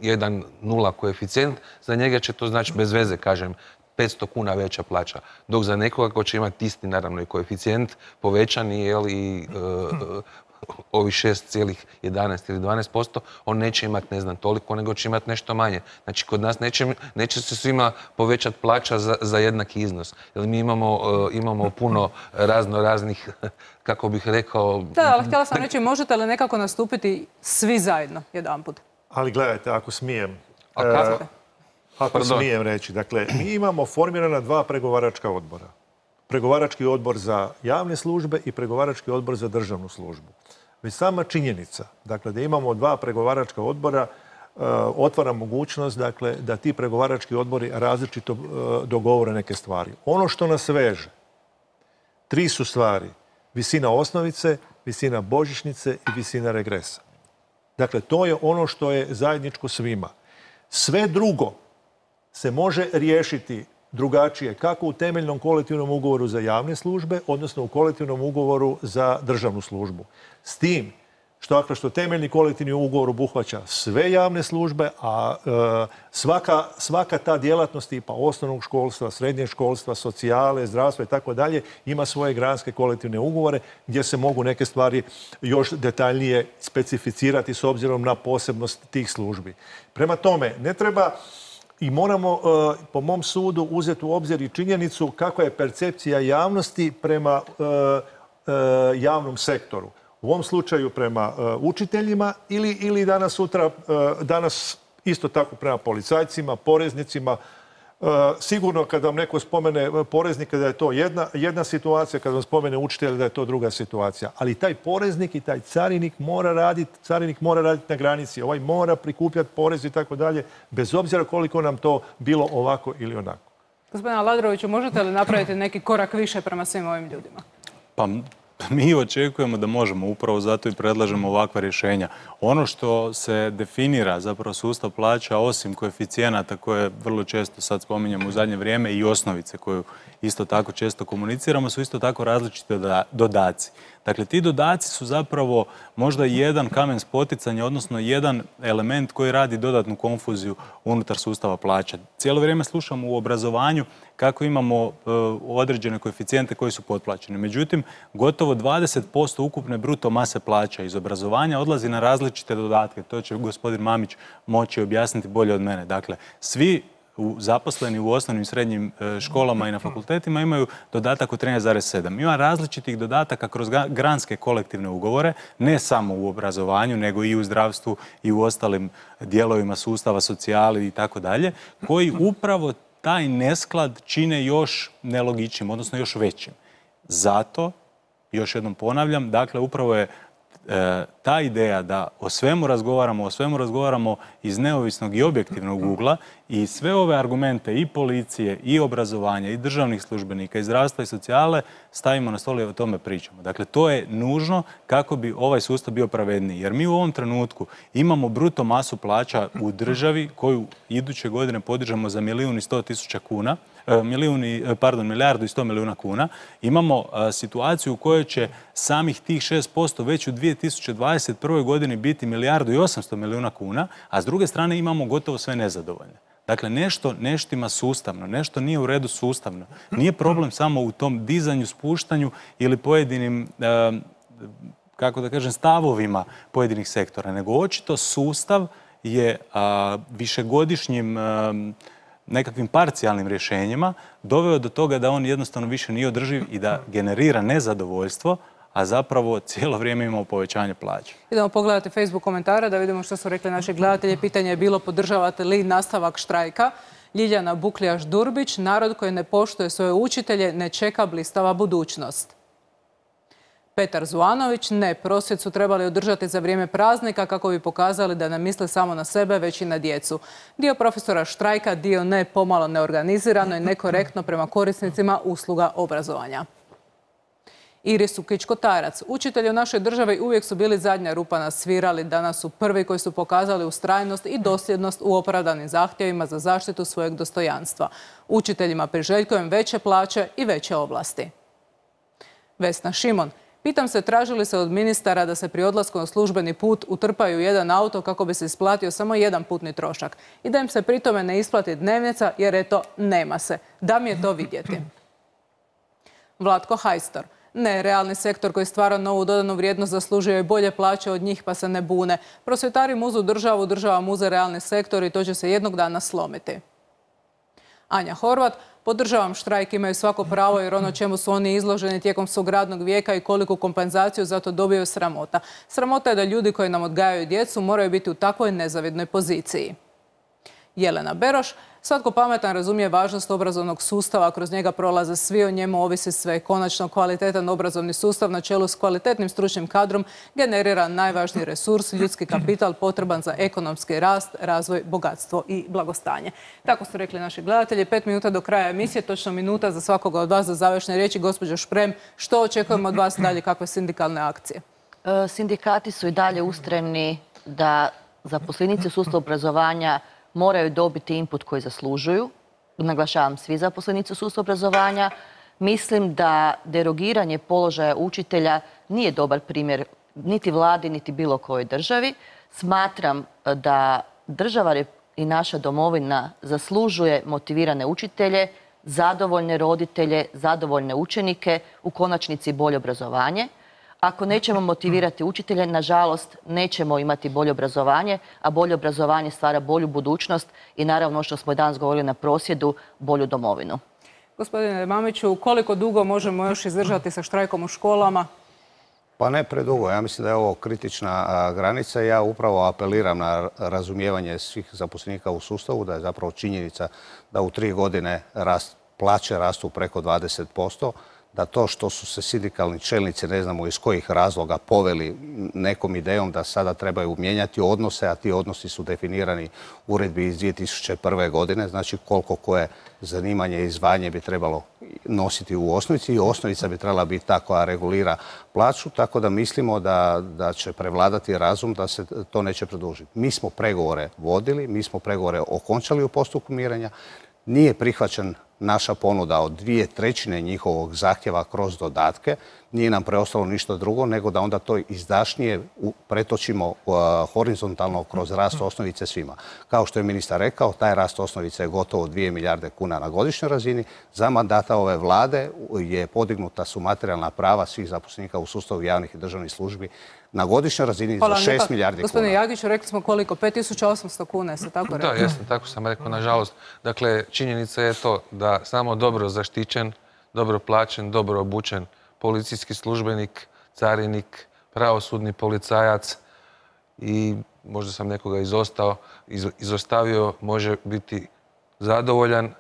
jedan nula koeficijent, za njega će to znači bez veze, kažem, petsto kuna veća plaća. Dok za nekoga ko će imati isti, naravno, i koeficijent povećani, jel, i ovi šest zarez jedanaest ili dvanaest posto, on neće imati, ne znam, toliko, nego će imati nešto manje. Znači, kod nas neće se svima povećati plaća za jednaki iznos. Jer mi imamo puno razno raznih, kako bih rekao... Da, ali htjela sam reći, možete li nekako nastupiti svi zajedno jedanput? Ali gledajte, ako smijem... Ako smijem reći, dakle, mi imamo formirana dva pregovaračka odbora. Pregovarački odbor za javne službe i pregovarački odbor za državnu službu. Već sama činjenica, dakle, da imamo dva pregovaračka odbora, otvara mogućnost, dakle, da ti pregovarački odbori različito dogovore neke stvari. Ono što nas veže, tri su stvari. Visina osnovice, visina božićnice i visina regresa. Dakle, to je ono što je zajedničko svima. Sve drugo se može riješiti drugačije, kako u temeljnom kolektivnom ugovoru za javne službe, odnosno u kolektivnom ugovoru za državnu službu. S tim što, što temeljni kolektivni ugovor obuhvaća sve javne službe, a e, svaka, svaka ta djelatnost tipa osnovnog školstva, srednjeg školstva, socijale, zdravstva i tako dalje ima svoje granske kolektivne ugovore gdje se mogu neke stvari još detaljnije specificirati s obzirom na posebnost tih službi. Prema tome, ne treba i moramo, po mom sudu, uzeti u obzir i činjenicu kakva je percepcija javnosti prema javnom sektoru. U ovom slučaju prema učiteljima ili, ili danas sutra, danas isto tako prema policajcima, poreznicima. Sigurno kad vam neko spomene poreznika da je to jedna, jedna situacija, kad vam spomene učitelja da je to druga situacija. Ali taj poreznik i taj carinik mora raditi, carinik mora raditi na granici. Ovaj mora prikupljati porez i tako dalje, bez obzira koliko nam to bilo ovako ili onako. Gospodine Aladroviću, možete li napraviti neki korak više prema svim ovim ljudima? Pa mi očekujemo da možemo, upravo zato i predlažemo ovakva rješenja. Ono što se definira, zapravo sustav plaća, osim koeficijenata koje vrlo često sad spominjamo u zadnje vrijeme i osnovice koju isto tako često komuniciramo, su isto tako različite dodaci. Dakle, ti dodaci su zapravo možda jedan kamen spoticanja, odnosno jedan element koji radi dodatnu konfuziju unutar sustava plaća. Cijelo vrijeme slušamo u obrazovanju kako imamo uh, određene koeficijente koji su potplaćeni. Međutim, gotovo dvadeset posto ukupne bruto mase plaća iz obrazovanja odlazi na različite dodatke. To će gospodin Mamić moći objasniti bolje od mene. Dakle, svi zaposleni u osnovnim i srednjim školama i na fakultetima imaju dodatak od trinaest zarez sedam. Ima različitih dodataka kroz granske kolektivne ugovore, ne samo u obrazovanju, nego i u zdravstvu i u ostalim dijelovima sustava, socijali i tako dalje, koji upravo taj nesklad čine još nelogičnim, odnosno još većim. Zato, još jednom ponavljam, dakle, upravo je e, ta ideja da o svemu razgovaramo, o svemu razgovaramo iz neovisnog i objektivnog ugla i sve ove argumente i policije, i obrazovanja, i državnih službenika, i zdravstva i socijale stavimo na stol i o tome pričamo. Dakle, to je nužno kako bi ovaj sustav bio pravedniji. Jer mi u ovom trenutku imamo bruto masu plaća u državi koju iduće godine podižemo za milijun i sto tisuća kuna, milijun i, pardon, milijardu i sto milijuna kuna. Imamo a, situaciju u kojoj će samih tih šest posto već u dvije tisuće dvadeset prvoj godini biti milijardu i osamsto milijuna kuna, a s druge strane imamo gotovo sve nezadovoljne. Dakle, nešto neštima sustavno, nešto nije u redu sustavno. Nije problem samo u tom dizanju, spuštanju ili pojedinim, e, kako da kažem, stavovima pojedinih sektora, nego očito sustav je a, višegodišnjim a, nekakvim parcijalnim rješenjima doveo do toga da on jednostavno više nije održiv i da generira nezadovoljstvo, a zapravo cijelo vrijeme imamo povećanje plaća. Idemo pogledati Facebook komentare da vidimo što su rekli naši gledatelji. Pitanje je bilo podržavate li nastavak štrajka. Ljiljana Bukljaš-Durbić, narod koji ne poštuje svoje učitelje ne čeka blistava budućnost. Petar Zuanović, ne, prosvjed su trebali održati za vrijeme praznika kako bi pokazali da ne misle samo na sebe, već i na djecu. Dio profesora štrajka, dio ne, pomalo neorganizirano i nekorektno prema korisnicima usluga obrazovanja. Iris Ukić-Kotarac. Učitelji u našoj državi uvijek su bili zadnja rupa na svirali. Danas su prvi koji su pokazali ustrajnost i dosljednost u opravdanim zahtjevima za zaštitu svojeg dostojanstva. Učiteljima priželjkujem veće plaće i veće ovlasti. Vesna Šimon. Pitam se traži li se od ministara da se pri odlasku na službeni put utrpaju u jedan auto kako bi se isplatio samo jedan putni trošak i da im se pri tome ne isplati dnevnica jer eto nema se. Da mi je to vidjeti. Vlatko Hajstor. Ne, realni sektor koji stvara novu dodanu vrijednost zaslužuje i bolje plaće od njih pa se ne bune. Prosvjetari muzu državu, država muze realni sektor i to će se jednog dana slomiti. Anja Horvat. Podržavam štrajk, imaju svako pravo jer ono čemu su oni izloženi tijekom svog radnog vijeka i koliku kompenzaciju za to dobiju sramota. Sramota je da ljudi koji nam odgajaju djecu moraju biti u takvoj nezavidnoj poziciji. Jelena Beroš. Svatko pametan razumije važnost obrazovnog sustava, kroz njega prolaze svi, o njemu ovisi sve. Konačno, kvalitetan obrazovni sustav na čelu s kvalitetnim stručnim kadrom generira najvažniji resurs, ljudski kapital potreban za ekonomski rast, razvoj, bogatstvo i blagostanje. Tako su rekli naši gledatelji. Pet minuta do kraja emisije, točno minuta za svakoga od vas za završne riječi. Gospođo Šprem, što očekujemo od vas dalje, kakve sindikalne akcije? Sindikati su i dalje ustrajni da zaposlenici u sustavu obrazovanja moraju dobiti input koji zaslužuju. Naglašavam, svi zaposlenici u sustavu obrazovanja. Mislim da derogiranje položaja učitelja nije dobar primjer niti vladi, niti bilo kojoj državi. Smatram da država i naša domovina zaslužuje motivirane učitelje, zadovoljne roditelje, zadovoljne učenike, u konačnici bolje obrazovanje. Ako nećemo motivirati učitelje, nažalost, nećemo imati bolje obrazovanje, a bolje obrazovanje stvara bolju budućnost i naravno, što smo danas govorili na prosvjedu, bolju domovinu. Gospodine Mamiću, koliko dugo možemo još izdržati sa štrajkom u školama? Pa ne predugo. Ja mislim da je ovo kritična granica. Ja upravo apeliram na razumijevanje svih zaposlenika u sustavu, da je zapravo činjenica da u tri godine plaće rastu preko dvadeset posto, da to što su se sindikalni čelnici, ne znamo iz kojih razloga, poveli nekom idejom da sada trebaju mijenjati odnose, a ti odnosi su definirani u uredbi iz dvije tisuće prve. godine, znači koliko koje zanimanje i zvanje bi trebalo nositi u osnovici i osnovica bi trebala biti ta koja regulira plaću, tako da mislimo da, da će prevladati razum da se to neće produžiti. Mi smo pregovore vodili, mi smo pregovore okončali u postupku mirenja, nije prihvaćen naša ponuda od dvije trećine njihovog zahtjeva kroz dodatke, nije nam preostalo ništa drugo nego da onda to izdašnije pretočimo horizontalno kroz rast osnovice svima. Kao što je ministar rekao, taj rast osnovice je gotovo dvije milijarde kuna na godišnjoj razini. Za mandata ove vlade je podignuta su materijalna prava svih zaposlenika u sustavu javnih i državnih službi na godišnjoj razini za šest milijardi kuna. Gospodine Jagiću, rekli smo koliko? pet tisuća osamsto kuna, se tako rekao? Da, jesam, tako sam rekao, nažalost. Dakle, činjenica je to da samo dobro zaštićen, dobro plaćen, dobro obučen policijski službenik, carinik, pravosudni policajac i možda sam nekoga izostao, izostavio, može biti zadovoljan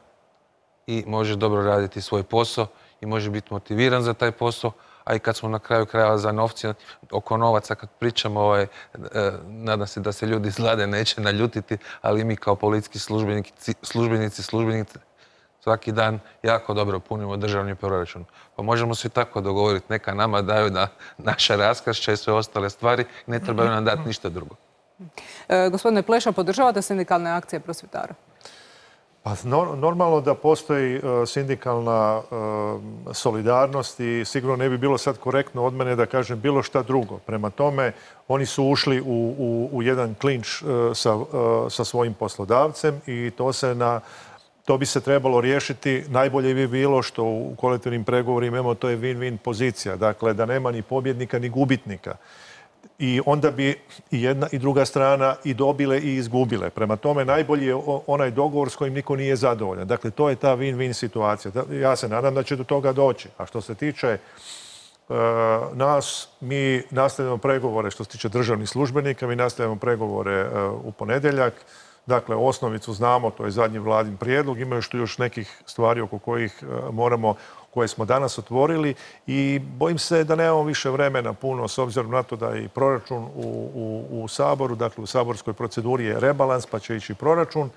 i može dobro raditi svoj posao i može biti motiviran za taj posao, a i kad smo na kraju krajeva za novci, oko novaca kad pričamo, ovaj, nadam se da se ljudi iz vlade neće naljutiti, ali mi kao policijski službenici, službenici, službenici svaki dan jako dobro punimo državni proračun. Pa možemo se tako dogovoriti, neka nama daju da naša raskršća i sve ostale stvari, ne trebaju nam dati ništa drugo. E, gospodine Pleša, podržavate sindikalne akcije prosvjetara? Pa normalno da postoji sindikalna solidarnost i sigurno ne bi bilo sad korektno od mene da kažem bilo šta drugo. Prema tome, oni su ušli u, u, u jedan klinč sa, sa svojim poslodavcem i to se na To bi se trebalo riješiti. Najbolje bi bilo što u kolektivnim pregovorima imamo, to je win-win pozicija. Dakle, da nema ni pobjednika ni gubitnika. I onda bi i jedna i druga strana i dobile i izgubile. Prema tome, najbolji je onaj dogovor s kojim niko nije zadovoljan. Dakle, to je ta win-win situacija. Ja se nadam da će do toga doći. A što se tiče uh, nas, mi nastavljamo pregovore što se tiče državnih službenika, mi nastavljamo pregovore uh, u ponedjeljak. Dakle, osnovicu znamo, to je zadnji vladin prijedlog, ima još tu još nekih stvari oko kojih moramo, koje smo danas otvorili i bojim se da nemamo više vremena puno s obzirom na to da je i proračun u, u, u Saboru, dakle u saborskoj proceduri je rebalans pa će ići proračun.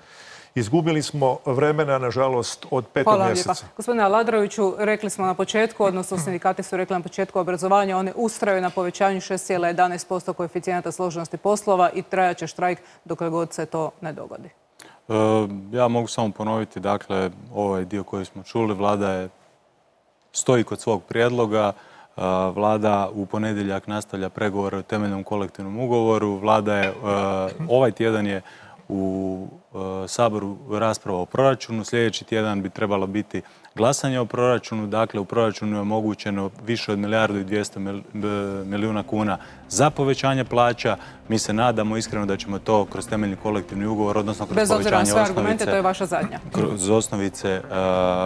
Izgubili smo vremena, nažalost, od petog mjeseca. Hvala. Gospodine Aladroviću, rekli smo na početku, odnosno sindikati su rekli na početku obrazovanja, oni ustraju na povećanju šest zarez jedanaest posto koeficijenata složenosti poslova i trajaće štrajk dokle god se to ne dogodi. E, ja mogu samo ponoviti, dakle, ovaj dio koji smo čuli, vlada je stoji kod svog prijedloga. Vlada u ponedjeljak nastavlja pregovore o temeljnom kolektivnom ugovoru. Vlada je, ovaj tjedan je u Saboru rasprava o proračunu. Sljedeći tjedan bi trebalo biti glasanje o proračunu. Dakle, u proračunu je omogućeno više od milijardu i dvjesto milijuna kuna za povećanje plaća. Mi se nadamo iskreno da ćemo to kroz temeljni kolektivni ugovor, odnosno kroz povećanje osnovice... Bez obzira na sve argumente, to je vaša zadnja. Kroz osnovice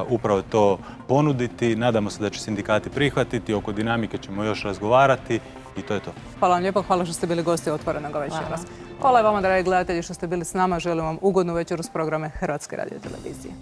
upravo to ponuditi. Nadamo se da će sindikati prihvatiti. Oko dinamike ćemo još razgovarati i to je to. Hvala vam lijepo. Hvala što ste bili gosti Otvorenog večeras. Hvala i vama, dragi gledatelji, što ste bili s nama. Želim vam ugodnu večeru s programe Hrvatske radiotelevizije.